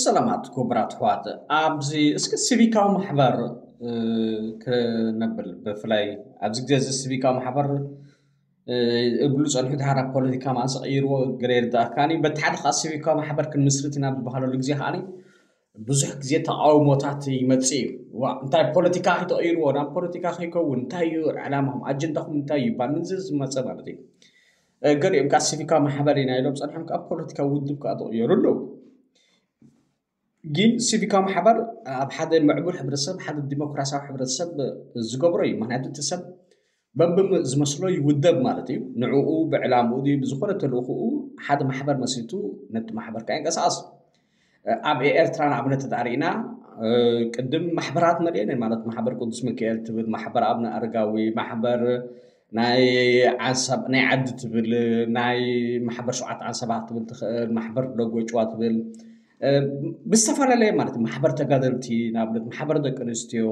ሰላማት ክቡራት ኣሕዋት፣ ኣብዚ እስኪ ሲቪካዊ ማሕበር ክነብል፣ ብፍላይ ኣብዚ ግዜ እዚ ሲቪካዊ ማሕበር እብሉ ጸኒሑ፣ ድሓር ኣብ ፖለቲካ ማእሰ ቀይርዎ ገለ ይርዳእካኒ። በቲ ሓደ ከዓ ሲቪካዊ ማሕበር ክንምስርት ኢና ዝበሃለሉ ግዜ ከዓኒ ብዙሕ ግዜ ተቃውሞታት ይመጽእ እዩ። ዋ እንታይ ፖለቲካ ተቀይርዎ ናብ ፖለቲካ ከይከውን እንታይ እዩ ዕላማኹም ኣጀንዳኹም እንታይ እዩ ይባል ምንዚ ዝመጸ ማለት እዩ። ገሊኦም ከዓ ሲቪካዊ ማሕበር ኢና ኢሎም ጸኒሖም ከዓ ፖለቲካዊ ውድብ ከዓ ተቀየሩ ኣለዉ። ግን ሲቪካዊ ማሕበር ኣብ ሓደ ምዕቡል ሕብረተሰብ ሓደ ዲሞክራሲያዊ ሕብረተሰብ ዝገብሮ እዩ። ምክንያቱ እቲ ሰብ በብዝመስሎ ይውደብ ማለት እዩ። ንዕኡ ብዕላምኡ ድዩ ብዝኾነ ተልእኽኡ ሓደ ማሕበር መስሪቱ ነቲ ማሕበር ከዓ ይንቀሳቐስ። ኣብ ኤርትራ ንኣብነት ተዳሪእና ቅድም ማሕበራት መሊአን ማለት ማሕበር ቅዱስ ሚካኤል ትብል፣ ማሕበር ኣብነ ኣረጋዊ፣ ማሕበር ናይ ዓንሰብ ናይ ዓዲ ትብል፣ ናይ ማሕበር ሸውዓተ ዓንሰባት ትብል ትኽእል፣ ማሕበር ደጎ ጭዋ ትብል ብዝተፈላለየ ማለት ማሕበር ተጋደልቲ ንኣብነት ማሕበር ደቂ ኣንስትዮ፣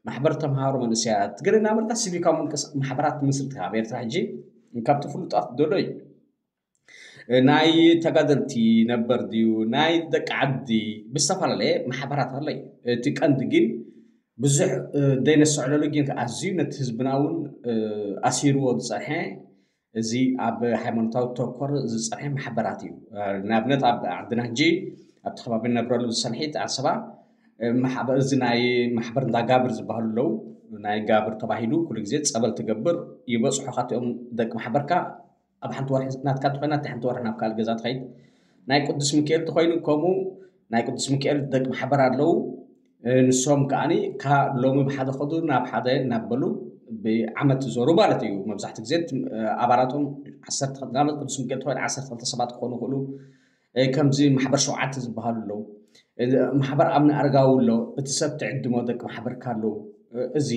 ማሕበር ተምሃሮ መንእሰያት ገለ እናበልካ ሲቪካዊ ምንቅስ ማሕበራት ትምስርት ኣብ ኤርትራ ሕጂ ካብቲ ፍሉጣት ደሎ እዩ። ናይ ተጋደልቲ ነበር ድዩ ናይ ደቂ ዓዲ ብዝተፈላለየ ማሕበራት ኣሎ እዩ። እቲ ቀንዲ ግን ብዙሕ ደይነሰዕለሉ ግን ኣዝዩ ነቲ ህዝብና እውን ኣሲርዎ ዝፀንሐ እዚ ኣብ ሃይማኖታዊ ተኮር ዝፀንሐ ማሕበራት እዩ። ንኣብነት ኣብ ዓድና ሕጂ ኣብቲ ከባቢ ንነብረሉ ዝሰንሒት ዓሰባ እዚ ናይ ማሕበር እንዳ ጋብር ዝበሃሉ ኣለዉ። ናይ ጋብር ተባሂሉ ኩሉ ግዜ ፀበል ትገብር ይበፅሑ ካቲኦም ደቂ ማሕበርካ ኣብ ሓንቲ ወርሒ ናትካ ተኮይና እቲ ሓንቲ ወርሒ ናብ ካልእ ገዛ ትኸይድ። ናይ ቅዱስ ሚካኤል ተኮይኑ ከምኡ ናይ ቅዱስ ሚካኤል ደቂ ማሕበር ኣለዉ። ንሶም ከዓኒ ካብ ሎሚ ብሓደ ከዱ ናብ ሓደ እናበሉ ብዓመት ይዞሩ ማለት እዩ። መብዛሕትኡ ግዜ ኣባላቶም ዓሰርተ ንኣብነት ቅዱስ ሚካኤል ተኮይኑ ዓሰርተ ክልተ ሰባት ክኾኑ ይኽእሉ። ከምዚ ማሕበር ሸውዓተ ዝበሃሉ ኣለዉ። ማሕበር ኣብነ ኣረጋዊ ኣሎ። እቲ ሰብ ትዕድሞ ደቂ ማሕበርካ ኣለዉ። እዚ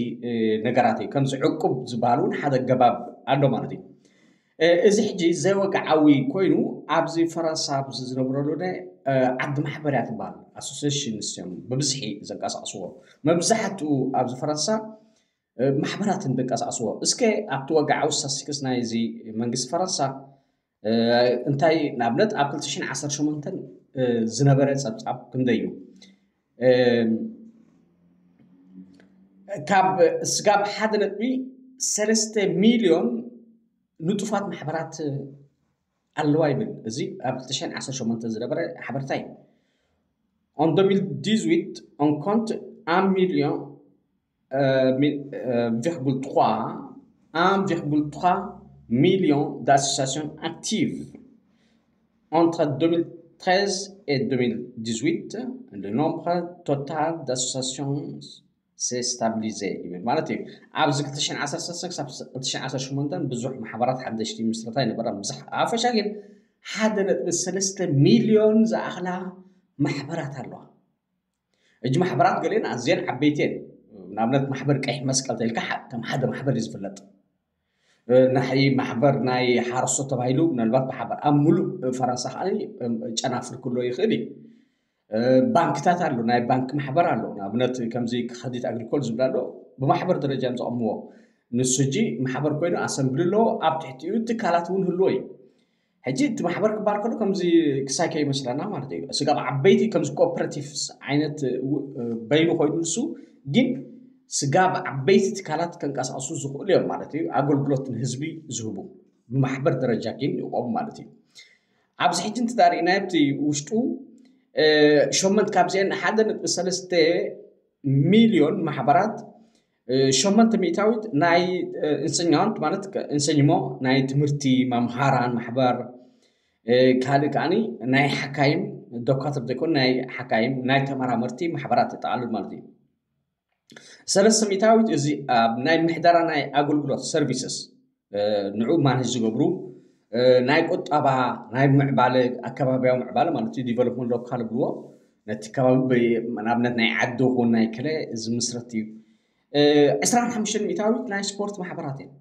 ነገራት እዩ። ከምዚ ዕቁብ ዝበሃል እውን ሓደ ኣገባብ ኣሎ ማለት እዩ። እዚ ሕጂ ዘይወግዓዊ ኮይኑ ኣብዚ ፈረንሳ ኣብዚ ዝነብረሉ ናይ ዓዲ ማሕበር እያ ትበሃል። ኣሶሲሽንስ እዮም ብብዝሒ ዘንቀሳቕስዎ። መብዛሕትኡ ኣብዚ ፈረንሳ ማሕበራትን ዘንቀሳቕስዎ። እስከ ኣብቲ ወግዓዊ ስታስቲክስ ናይ እዚ መንግስቲ ፈረንሳ እንታይ ንኣብነት ኣብ ክልተ ሽሕን ዓሰርተ ሸሞንተን ዝነበረ ጸብጻብ ክንደይ እዩ? ካብ ስጋብ ሓደ ነጥቢ ሰለስተ ሚልዮን ንጡፋት ማሕበራት ኣለዋ ይብል። እዚ ኣብ ክልተ ሽሕን ዓሰርተ ሸሞንተን ዝነበረ ሓበሬታ እዩ። En deux mille dix-huit, on compte un million, euh, mi- euh, virgule trois, un virgule trois million d'associations actives. Entre deux mille treize et deux mille dix-huit, le nombre total d'associations s'est stabilisé ይብል ማለት እዩ። ኣብዚ ክልተ ሽሕን ዓሰርተ ሰለስተን ክሳብ ክልተ ሽሕን ዓሰርተ ሸሞንተን ብዙሕ ማሕበራት ሓደሽቲ ምስረታ ይነበራ ብዙሕ ኣፈሻ ግን ሓደ ነጥቢ ሰለስተ ሚልዮን ዝኣኽላ ማሕበራት ኣለዋ። እጂ ማሕበራት ገሊአን ኣዝየን ዓበይቲ እየን። ንኣብነት ማሕበር ቀይሕ መስቀል ተልካ ከም ሓደ ማሕበር እዩ ዝፍለጥ። ናይ ማሕበር ናይ ሓረስቶት ተባሂሉ ምናልባት ብሓበር ኣብ ሙሉእ ፈረንሳ ከዓ ጨናፍር ክሎ ይኽእል እዩ። ባንክታት ኣሎ፣ ናይ ባንክ ማሕበር ኣሎ። ንኣብነት ከምዚ ክኸዲት ኣግሪኮል ዝብል ኣሎ፣ ብማሕበር ደረጃ እዮም ዘቐምዎ። ንሱ ሕጂ ማሕበር ኮይኑ ኣሰምብሊ ኣለዎ፣ ኣብ ትሕቲኡ ትካላት እውን ህልዎ እዩ። ሕጂ እቲ ማሕበር ክበሃል ከሎ ከምዚ ክሳይ ከይመስለና ማለት እዩ። ስጋብ ዓበይቲ ከምዚ ኮኦፐሬቲቭስ ዓይነት በይኑ ኮይኑ ንሱ ግን ስጋብ ዓበይቲ ትካላት ከንቀሳቕሱ ዝኽእሉ እዮም ማለት እዩ። ኣገልግሎት ንህዝቢ ዝህቡ ብማሕበር ደረጃ ግን ይቆሙ ማለት እዩ። ኣብዚ ሕጂ እንትዳርኢና ኣብቲ ውሽጡ ሸመንት ካብዚአን ሓደ ነጥቢ ሰለስተ ሚልዮን ማሕበራት ሸመንተ ሚእታዊት ናይ እንሰኛንት ማለት እንሰኝሞ ናይ ትምህርቲ መምሃራን ማሕበር ካልእ ከዓኒ ናይ ሓካይም ዶካትር ዘይኮን ናይ ሓካይም ናይ ተመራመርቲ ማሕበራት የጠቓልል ማለት እዩ። ሰለስተ ሚእታዊት እዚ ኣብ ናይ ምሕደራ ናይ ኣገልግሎት ሰርቪስስ ንዑ ማኔጅ ዝገብሩ ናይ ቁጠባ ናይ ምዕባለ ኣከባቢያዊ ምዕባለ ማለት እዩ ዲቨሎፕመንት ሎካል ብልዎ ነቲ ከባቢ ንኣብነት ናይ ዓዲ ኹን ናይ ከለ ዝምስረት እዩ። ዕስራን ሓሙሽተን ሚእታዊት ናይ ስፖርት ማሕበራት እዮም።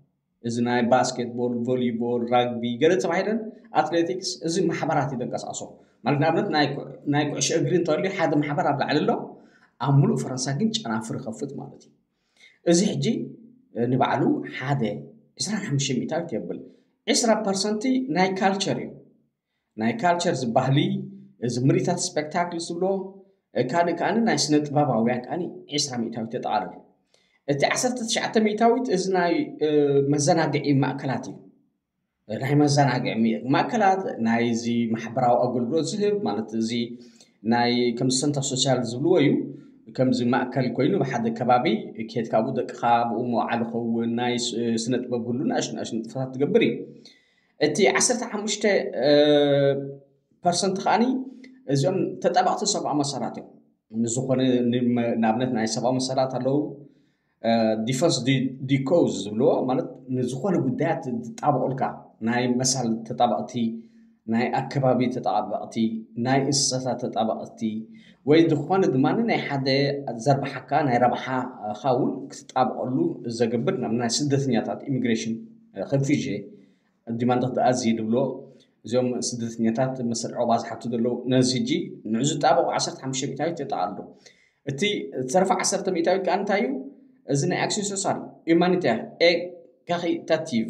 እዚ ናይ ባስኬትቦል ቮሊቦል ራግቢ ገለ ተባሂለን ኣትሌቲክስ እዚ ማሕበራት እዩ ዘንቀሳቕሶ ማለት ንኣብነት ናይ ኩዕሾ እግሪ እንተልዩ ሓደ ማሕበር ኣብ ላዕሊ ኣሎ ኣብ ሙሉእ ፈረንሳ ግን ጨናፍር ይኸፍት ማለት እዩ። እዚ ሕጂ ንባዕሉ ሓደ ዕስራን ሓሙሽተ ሚእታዊት የብል። ዕስራ ፐርሰንቲ ናይ ካልቸር እዩ። ናይ ካልቸር ዝበሃሊ እዚ ምርኢታት ስፔክታክል ዝብሎ ካልእ ከኣ ናይ ስነ ጥበባውያን ከኣ ዕስራ ሚእታዊት የጠቓልል። እቲ ዓሰርተ ትሽዓተ ሚእታዊት እዚ ናይ መዘናግዒ ማእከላት እዩ። ናይ መዘናግዒ ማእከላት ናይዚ ማሕበራዊ ኣገልግሎት ዝህብ ማለት እዚ ናይ ከም ሰንተር ሶሻል ዝብልዎ እዩ። ከምዚ ማእከል ኮይኑ ብሓደ ከባቢ ኬድካ ብኡ ደቅኻ ብኡ መዋዕል ኸውን ናይ ስነ ጥበብ ህሉ ንኣሽቱ ንኣሽቱ ንጥፈታት ትገብር እዩ። እቲ ዓሰርተ ሓሙሽተ ፐርሰንት ከዓኒ እዚኦም ተጣባቕቲ ሰብኣዊ መሰላት እዮም። ንዝኾነ ንኣብነት ናይ ሰብኣዊ መሰላት ኣለዉ ዲፈንስ ዲኮዝ ዝብልዎ ማለት ንዝኾነ ጉዳያት ዝጣበቑልካ ናይ መሳል ተጣባቕቲ ናይ ኣከባቢ ተጣባቕቲ ናይ እንስሳታት ተጣባቕቲ ወይ ዝኾነ ድማ ናይ ሓደ ዘርባሓካ ናይ ረብሓኻ እውን ክትጣበቐሉ ዘገብር ናብ ናይ ስደተኛታት ኢሚግሬሽን ኸንፊዥ ዲማንድ ክትኣዝዩ ዝብሎ እዚኦም ስደተኛታት መሰል ዕቑባ ዝሓቱ ዘለዉ ነዚ ሕጂ ንዑ ዝጣበቑ ዓሰርተ ሓሙሽተ ሚእታዊት የጠቓልሉ። እቲ ዝተረፈ ዓሰርተ ሚእታዊት ከኣ እንታይ እዩ? እዚ ናይ ኣክሲን ሶሳል፣ ዩማኒታር፣ ኤካሪታቲቭ፣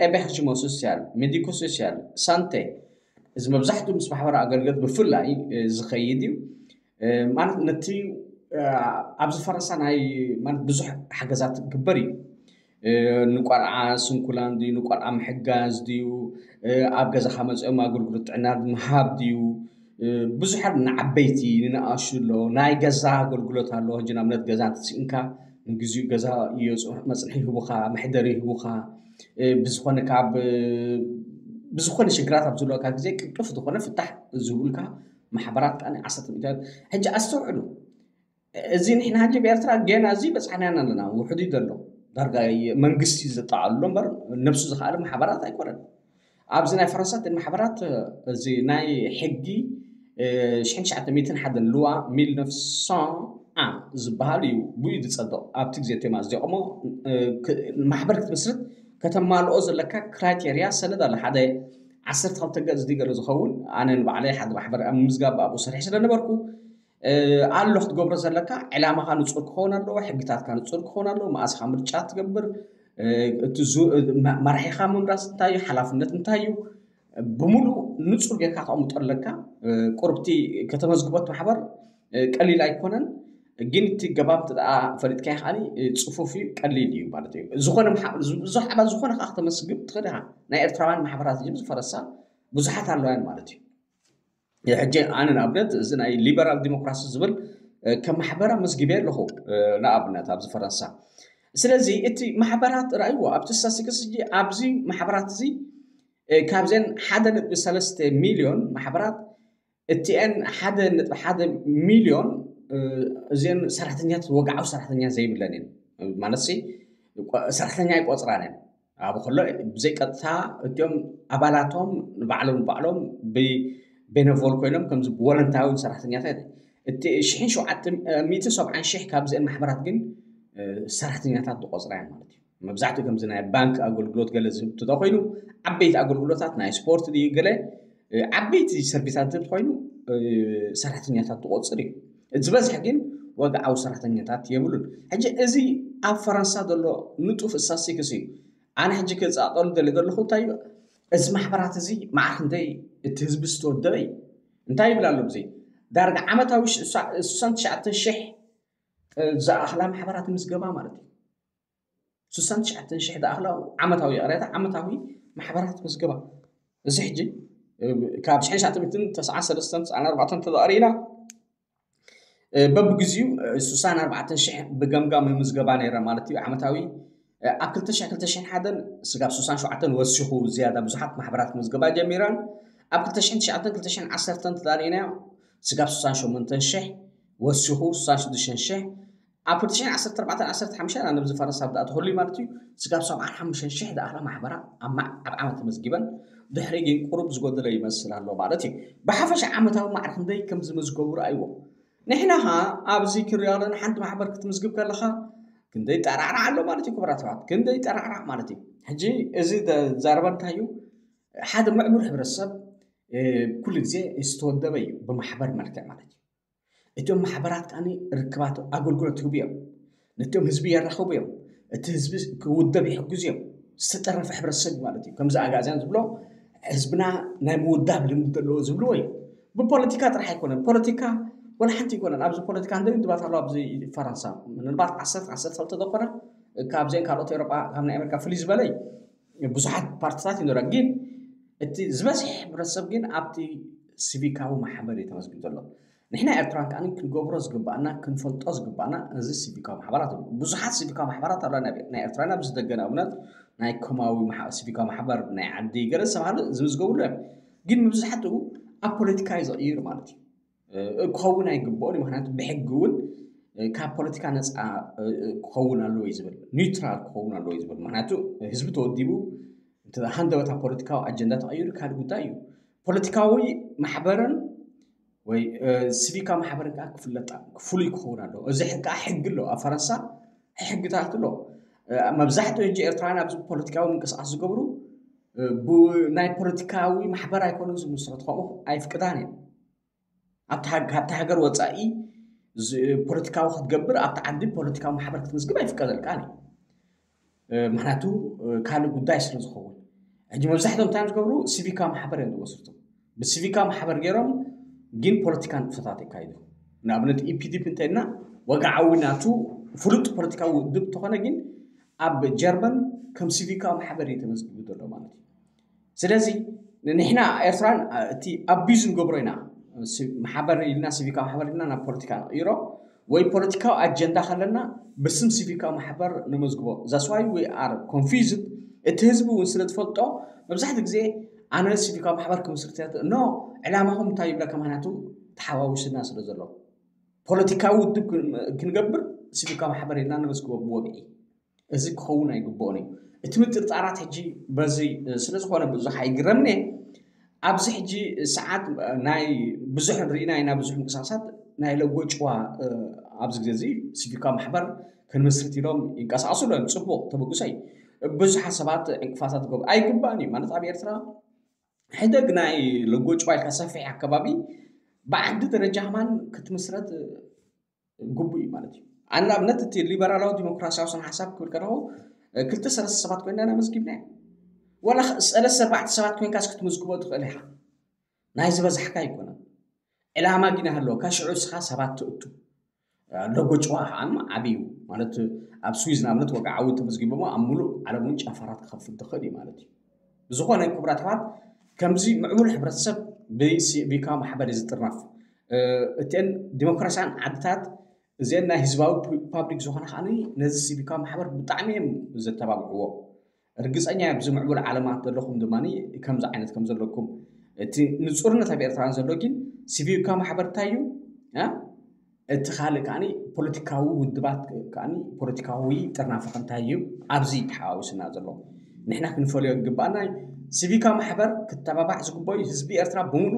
ኤበርጅሞ ሶሲያል፣ ሜዲኮ ሶሲያል፣ ሳንቴ እዚ መብዛሕትኡ ምስ ማሕበራዊ ኣገልግሎት ብፍላይ ዝኸይድ እዩ። ማለት ነቲ ኣብዚ ፈረንሳ ናይ ማለት ብዙሕ ሓገዛት ክግበር እዩ። ንቆልዓ ስንኩላን ድዩ ንቆልዓ ምሕጋዝ ድዩ ኣብ ገዛኻ መፅኦም ኣገልግሎት ጥዕና ምሃብ ድዩ ብዙሓት ንዓበይቲ ንንኣሹ ኣሎ ናይ ገዛ ኣገልግሎት ኣሎ ሕጂ ንኣብነት ገዛ እንተስኢንካ ንግዚኡ ገዛ መፅንሒ ይህቡኻ መሕደሪ ይህቡኻ ብዝኾነ ካብ ብዝኾነ ሽግራት ኣብ ዝህልወካ ግዜ ቅልጡፍ ዝኾነ ፍታሕ ዝህቡልካ ማሕበራት ከኣ ዓሰርተ ሚእታዊት ሕጂ ኣስተውዕሉ እዚ ንሕና ሕጂ ብኤርትራ ጌና እዚ በጻሕናና ኣለና ውሕዱ እዩ ዘሎ ዳርጋ መንግስቲ ዘጠቓልሎ እምበር ነብሱ ዝኸኣለ ማሕበራት ኣይኮነን ኣብዚ ናይ ፈረንሳ እቲ ማሕበራት እዚ ናይ ሕጊ ሽሕን ትሽዓተ ሚእትን ሓደን ልዋ ሚል ነፍሳ ዝበሃል እዩ ብኡ ዝጸድቕ ኣብቲ ግዜ ቴማ ዘቆሞ ማሕበር ክትምስርት ከተማልኦ ዘለካ ክራይቴርያ ሰነድ ኣሎ ሓደ ዓሰርተ ክልተ ገጽ ዝገለ ዝኸውን ኣነ ንባዕለይ ሓደ ማሕበር ኣብ ምዝጋብ ኣብኡ ሰሪሕ ስለነበርኩ ኣሎ ክትገብሮ ዘለካ ዕላማኻ ንጹር ክኸውን ኣለዎ፣ ሕግታትካ ንጹር ክኸውን ኣለዎ፣ መኣስኻ ምርጫ ትገብር፣ እቲ መራሒኻ ምምራፅ እንታይ እዩ፣ ሓላፍነት እንታይ እዩ፣ ብምሉእ ንጹር ጌርካ ተቐምጦ ኣለካ። ቁርብቲ ከተመዝግቦት ማሕበር ቀሊል ኣይኮነን፣ ግን እቲ ገባብ ደኣ ፈሊጥካዮ ከኣ ጽፉፍ እዩ፣ ቀሊል እዩ ማለት እዩ። ዝኾነ ብዙሕ ኣባል ዝኾነ ከዓ ከተመስግብ ትኽእል ኢኻ። ናይ ኤርትራውያን ማሕበራት ዝፈረሳ ብዙሓት ኣለዋያን ማለት እዩ። ሕጂ ኣነ ንኣብነት እዚ ናይ ሊበራል ዲሞክራሲ ዝብል ከም ማሕበር ኣመዝጊበ ኣለኹ ንኣብነት ኣብዚ ፈረንሳ ስለዚ እቲ ማሕበራት ርኣይዎ ኣብቲ ስታስቲክስ እ ኣብዚ ማሕበራት እዚ ካብዘን ሓደ ነጥቢ ሰለስተ ሚልዮን ማሕበራት እቲአን ሓደ ነጥቢ ሓደ ሚልዮን እዚአን ሰራሕተኛታት ወግዓዊ ሰራሕተኛ ዘይብለን እየን ማለት ሰራሕተኛ ኣይቆፅራን እየን ኣብ ከሎ ብዘይ ቀጥታ እቲኦም ኣባላቶም ንባዕሎም ንባዕሎም ብቤነቮል ኮይኖም ከምዚ ብወለንታዊ ሰራሕተኛታት እቲ ሽሕን ሸውዓተ ሚእትን ሰብዓን ሽሕ ካብዚአን ማሕበራት ግን ሰራሕተኛታት ዝቆፅራ እየን ማለት እዩ መብዛሕትኡ ከምዚ ናይ ባንክ ኣገልግሎት ገለ ዝህብ እንተኾይኑ ዓበይቲ ኣገልግሎታት ናይ ስፖርት ድዩ ገለ ዓበይቲ ሰርቪሳት ዝህብ ኮይኑ ሰራሕተኛታት ትቆፅር እዩ ዝበዝሕ ግን ወግዓዊ ሰራሕተኛታት የብሉን ሕጂ እዚ ኣብ ፈረንሳ ዘሎ ንጡፍ ስታስቲክስ እዩ ኣነ ሕጂ ክፃጠሉ ደሊ ዘለኹ እንታይ እዩ እዚ ማሕበራት እዚ መዓር ክንደይ እቲ ህዝቢ ዝተወደበ እዩ እንታይ ይብል ኣሎ ብዚ ዳርጋ ዓመታዊ ስሳን ትሽዓተ ሽሕ ዝኣኽላ ማሕበራት ምዝገባ ማለት እዩ ስሳን ትሽዓተ ሽሕ ዝኣኽላ ዓመታዊ ይቕሬታ ዓመታዊ ማሕበራት ምዝገባ እዚ ሕጂ ካብ ሽሕን ትሽዓተ ሚእትን ተስዓን ሰለስተን ተስዓን ኣርባዕተን ተዛቕሪና በብግዚኡ ስሳን ኣርባዕተን ሽሕ ብገምጋም ምዝገባ ነይረ ማለት እዩ ዓመታዊ ኣብ ክልተ ሽሕ ክልተ ሽሕን ሓደን ስጋብ ስሳን ሸውዓተን ወሲኹ ዝያዳ ብዙሓት ማሕበራት ምዝገባ ጀሚረን ኣብ ክልተ ሽሕን ትሽዓተን ክልተ ሽሕን ዓሰርተን ተዛሪእናዮ ስጋብ ስሳን ሸሞንተን ሽሕ ወሲኹ ስሳን ሽዱሽተን ሽሕ ኣብ ክልተ ሽሕን ዓሰርተ ኣርባዕተን ዓሰርተ ሓሙሽተን ኣነ ብዝፈረስ ኣብ ዝኣተኹሉ ማለት እዩ ስጋብ ሰብዓን ሓሙሽተን ሽሕ ዝኣኽላ ማሕበራ ኣብ ዓመት ተመዝጊበን ድሕሪ ግን ቁሩብ ዝጎደለ ይመስል ኣሎ ማለት እዩ ብሓፈሻ ዓመታዊ ማዕረ ክንደይ ከም ዝመዝገቡ ረኣይዎ ንሕና ኸ ኣብዚ ክንሪኦ ኣለና ሓንቲ ማሕበር ክትምዝግብ ከለኻ ክንደይ ጠራዕራዕ ኣሎ ማለት እዩ ክቡራት ሰባት ክንደይ ጠራዕራዕ ማለት እዩ ሕጂ እዚ ዘረባ እንታይ እዩ ሓደ ምዕቡል ሕብረተሰብ ኩሉ ግዜ ዝተወደበ እዩ ብማሕበር መልክዕ ማለት እዩ እቶም ማሕበራት ከኣ ርክባት ኣገልግሎት ይህቡ እዮም ነቶም ህዝቢ የራኽቡ እዮም እቲ ህዝቢ ክውደብ ይሕግዙ እዮም ዝተጠረፈ ሕብረተሰብ ማለት እዩ ከምዚ ኣጋዝያን ዝብሎ ህዝብና ናይ ምውዳብ ልምዲ ዘለዎ ዝብልዎ እዩ ብፖለቲካ ጥራሕ ኣይኮነን። ፖለቲካ ወላ ሓንቲ ኣይኮነን። ኣብዚ ፖለቲካ እንደ ድባት ኣሎ ኣብዚ ፈረንሳ ምናልባት ዓሰርተ ዓሰርተ ክልተ ዝኾነ ካብዚአን ካልኦት ኤውሮጳ ካብ ናይ ኣሜሪካ ፍልይ ዝበለ ብዙሓት ፓርቲታት ይኖራ፣ ግን እቲ ዝበዝሕ ሕብረተሰብ ግን ኣብቲ ሲቪካዊ ማሕበር እዩ ተመዝጊቡ ዘሎ። ንሕና ኤርትራን ከኣ ክንገብሮ ዝግባኣና ክንፈልጦ ዝግባኣና እዚ ሲቪካዊ ማሕበራት እዩ። ብዙሓት ሲቪካዊ ማሕበራት ኣለዋ ናይ ኤርትራ ኣብዚ ደገ ንኣብነት ናይ ኮማዊ ሲቪካዊ ማሕበር ናይ ዓዲ ገለ ዝተባሃሉ ዝምዝገቡሉ እዮም። ግን መብዛሕትኡ ኣብ ፖለቲካ እዩ ዝቕይር ማለት እዩ። ክኸውን ኣይግብኦን እዩ። ምክንያቱ ብሕጊ እውን ካብ ፖለቲካ ነፃ ክኸውን ኣለዎ እዩ ዝብል፣ ኒውትራል ክኸውን ኣለዎ እዩ ዝብል። ምክንያቱ ህዝቢ ተወዲቡ ሃንደበታ ፖለቲካዊ ኣጀንዳ ተቐይሩ ካልእ ጉዳይ እዩ። ፖለቲካዊ ማሕበርን ወይ ሲቪካዊ ማሕበርን ከዓ ክፍለጣ ፍሉይ ክኸውን ኣለዎ። እዚ ከዓ ሕጊ ኣሎ ኣብ ፈረንሳ፣ ሕግታት ኣሎ። መብዛሕትኡ ሕጂ ኤርትራውያን ኣብዚ ፖለቲካዊ ምንቅስቃስ ዝገብሩ ብናይ ፖለቲካዊ ማሕበር ኣይኮኑን ዝምስረት፣ ከምኡ ኣይፍቅዳን እየን። ኣብቲ ሃገር ወፃኢ ፖለቲካዊ ክትገብር ኣብቲ ዓዲ ፖለቲካዊ ማሕበር ክትምዝግብ ኣይፍቀደልካን እዩ። ምክንያቱ ካልእ ጉዳይ ስለ ዝኸውን። ሕጂ መብዛሕትኦም እንታይ ዝገብሩ ሲቪካዊ ማሕበር እዮም ዝመስርቱ። ብሲቪካዊ ማሕበር ገይሮም ግን ፖለቲካ ንጥፈታት የካይዱ። ንኣብነት ኢፒዲፒ እንተልና ወግዓዊ ናቱ ፍሉጥ ፖለቲካዊ ውድብ እንተኾነ ግን ኣብ ጀርመን ከም ሲቪካዊ ማሕበር እዩ ተመዝጊቡ ዘሎ ማለት እዩ። ስለዚ ንሕና ኤርትራን እቲ ኣቢዝ ንገብሮ ኢና። ማሕበር ኢልና ሲቪካዊ ማሕበር ኢልና ናብ ፖለቲካ ንቕይሮ ወይ ፖለቲካዊ ኣጀንዳ ከለና ብስም ሲቪካዊ ማሕበር ነመዝግቦ። That's why we are confused። እቲ ህዝቢ እውን ስለ ዝፈልጦ መብዛሕትኡ ግዜ ኣነ ሲቪካዊ ማሕበር ክምስርት እየ ኖ ዕላማኹም እንታይ ይብለካ? ምክንያቱ ተሓዋዊስና ስለ ዘሎ ፖለቲካዊ ውድብ ክንገብር ሲቪካዊ ማሕበር ኢልና ነመዝግቦ ብወግዒ። እዚ ክኸውን ኣይግብኦን እዩ። እቲ ምጥርጣራት ሕጂ በዚ ስለ ዝኾነ ብዙሕ ኣይግረምኒ። ኣብዚ ሕጂ ሰዓት ናይ ብዙሕ ርኢና ኢና፣ ብዙሕ ምንቅስቃሳት ናይ ለጎ ጭዋ ኣብዚ ግዜ እዚ ሲቪካ ማሕበር ክንምስርት ኢሎም ይንቀሳቀሱ ኣለዉ። ፅቡቅ ተበግሶ እዩ። ብዙሓት ሰባት ዕንቅፋታት ክገብሩ ኣይግባእን እዩ ማለት ኣብ ኤርትራ ሕደግ ናይ ለጎ ጭዋ ኢልካ ሰፊሕ ኣከባቢ ብዓዲ ደረጃ ከማን ክትምስረት ግቡእ እዩ ማለት እዩ። ኣነ ንኣብነት እቲ ሊበራላዊ ዲሞክራሲያዊ ስነ ሓሳብ ክብል ከለኹ ክልተ ሰለስተ ሰባት ኮይና ኢና መዝጊብና ወላ ሰለስተ ኣርባዕተ ሰባት ኮይንካስ ክትምዝግቦ ትኽእል ኢኻ። ናይ ዝበዛሕካ ኣይኮነን። ዕላማ ግን ኣለካ። ሽዑ እስኻ ሰባት ትእቱ። ሎጎ ጭዋ ከዓ ዓብዩ ማለት ኣብ ስዊዝ ንኣብነት ወግዓዊ ተመዝጊቦሞ ኣብ ሙሉእ ዓለም እውን ጨፈራ ክኸፍት ዝኽእል እዩ ማለት እዩ። ብዝኾነ ክቡራት ኣሕዋት ከምዚ ምዕቡል ሕብረተሰብ ብሲቪካ ማሕበር እዩ ዝጥርነፍ። እተን ዲሞክራሲያን ዓድታት እዚአን ናይ ህዝባዊ ሪፓብሊክ ዝኾነ ከዓ ነዚ ሲቪካ ማሕበር ብጣዕሚ እዮም ዘተባብዕዎ። ርግፀኛ ኣብዚ ምዕቡል ዓለማት ዘለኹም ድማ ከምዚ ዓይነት ከም ዘለኩም እቲ ንፁርነት ኣብ ኤርትራን ዘሎ ግን ሲቪካ ማሕበር እንታይ እዩ እቲ ካልእ ከዓ ፖለቲካዊ ውድባት ከዓ ፖለቲካዊ ጥርናፈ እንታይ እዩ ኣብዚ ተሓዋዊስና ዘሎ ንሕና ክንፈልዮ ግባኣና። ሲቪካ ማሕበር ክተባባዕ ዝግበዩ ህዝቢ ኤርትራ ብምሉ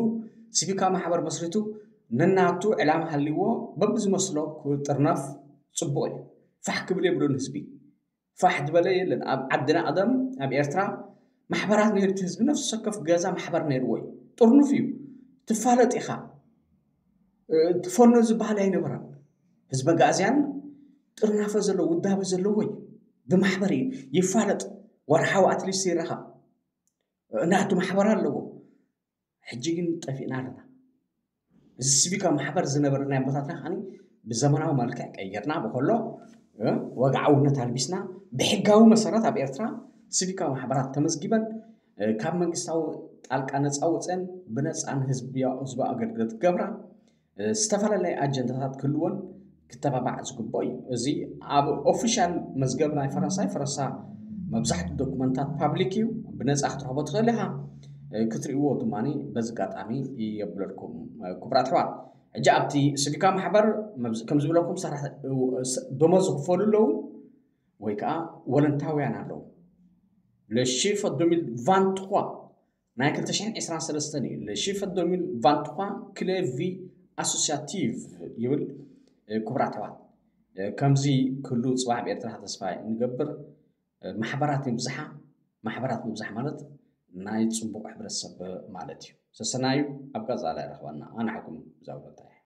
ሲቪካ ማሕበር መስሪቱ ነናቱ ዕላማ ሃልዎ በብዝመስሎ ክጥርነፍ ፅቡቅ እዩ። ፋሕ ክብል የብሉን ህዝቢ ፋሕ ዝበለ የለን። ኣብ ዓድና ቀደም ኣብ ኤርትራ ማሕበራት ነይሩ እቲ ህዝቢ ነፍሲ ወከፍ ገዛ ማሕበር ነይርዎ እዩ። ጥርኑፍ እዩ። ትፋለጥ ኢኻ። ትፈኖ ዝበሃል ኣይነበረን። ህዝቢ ኣጋእዝያን ጥርናፈ ዘለዎ ውዳበ ዘለዎ እዩ። ብማሕበር እዩ ይፋለጥ። ወርሓዊ ኣትሊስት ይረኸብ። ናቱ ማሕበር ኣለዎ። ሕጂ ግን ጠፊእና ኣለና። እዚ ሲቪካ ማሕበር ዝነበረ ናይ ኣቦታትና ከዓ ብዘመናዊ መልክዕ ቀይርና ብከሎ ወግዓውነት ኣልቢስና ብሕጋዊ መሰረት ኣብ ኤርትራ ሲቪካ ማሕበራት ተመዝጊበን ካብ መንግስታዊ ጣልቃ ነፃ ወፅአን ብነፃ ንህዝቢ ኣገልግሎት ክገብራ ዝተፈላለየ ኣጀንዳታት ክህልወን ክተባባዕ ዝግብኦ እዩ። እዚ ኣብ ኦፊሻል መዝገብ ናይ ፈረንሳይ ፈረንሳ መብዛሕትኡ ዶኩመንታት ፓብሊክ እዩ። ብነፃ ክትረኽቦ ትኽእል ኢኻ። ክትርእይዎ ድማ በዚ ኣጋጣሚ የብለልኩም ክቡራት ኣሕዋት። ሕጂ ኣብቲ ሲቪካ ማሕበር ከም ዝብለኩም ደሞዝ ዝኽፈሉ ኣለዉ ወይ ከዓ ወለንታውያን ኣለዉ። Le chiffre deux mille vingt-trois ናይ ክልተ ሽሕን ዕስራን ሰለስተን እዩ። Le chiffre deux mille vingt-trois clé vie associative ይብል። ክቡራት ኣሕዋት ከምዚ ክህሉ ፅባሕ ኣብ ኤርትራ ተስፋ ንገብር። ማሕበራት ይብዝሓ። ማሕበራት ምብዛሕ ማለት ናይ ፅቡቅ ሕብረተሰብ ማለት እዩ። ሰሰናዩ ኣብ ቀፃላይ ረኽበና ኣናሕኩም ብዛውረታይ